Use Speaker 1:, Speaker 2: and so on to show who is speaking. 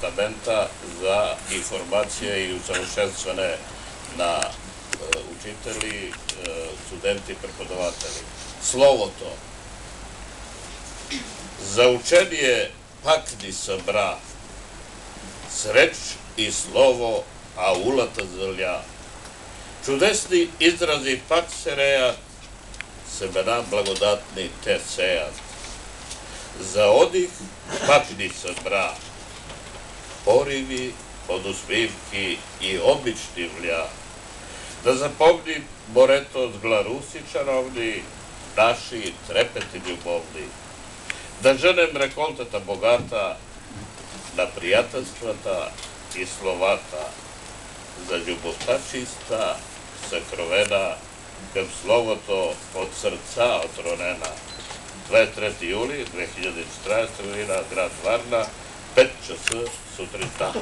Speaker 1: departamenta za informacije i usavrstvene na učitelji, studenti, prepodavatelji. Slovo to. Za učenje pakdi sa bra, sreč i slovo, a ulata zrlja. Čudesni izrazi pak se reja, semena blagodatni te sejat. Za odih pakdi sa bra, porivi od usmivki i obični vlja. Da zapomni moreto od glarusi čarovni, naši trepeti ljubovni. Da ženem rekoltata bogata, na prijateljstvata i slovata, za ljubovta čista, sakrovena, kad slovo to od srca otronena. 23. juli 2014. godina, grad Varna, 5 čas sutra dan.